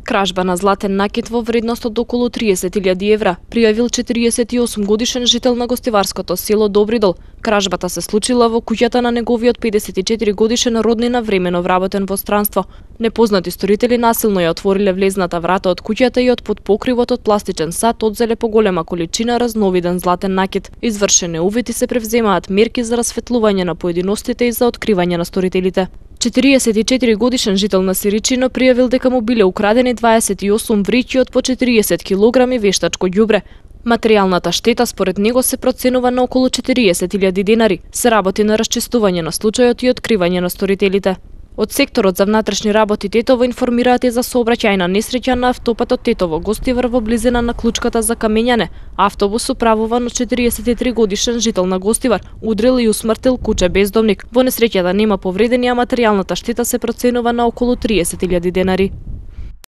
Кражба на златен накит во вредност од околу 30.000 евра пријавил 48 годишен жител на гостиварското село Добридол. Кражбата се случила во куќата на неговиот 54 годишен роднина времено вработен во странство. Непознати сторители насилно ја отвориле влезната врата од куќата и од под покривот од пластичен сат одзеле поголема количина разновиден златен накит. Извршене увити се превземаат мерки за расветлување на поединостите и за откривање на сторителите. 44 годишен жител на Сиричино пријавил дека му биле украдени 28 вриќи од по 40 килограми вештачко ѓубре. Материјалната штета според него се проценува на околу 40.000 денари. Се работи на расчистување на случајот и откривање на сторителите. Од секторот за внатрешни работи Тетово информираат и за сообраќајна несреќа на автопатот Тетово-Гостивар во близина на клучката за Камењане. Автобус управуван од 43 годишен жител на Гостивар удрил и усмртил куче бездомник. Во несреќата нема повредени, а материјалната штета се проценува на околу 30.000 денари.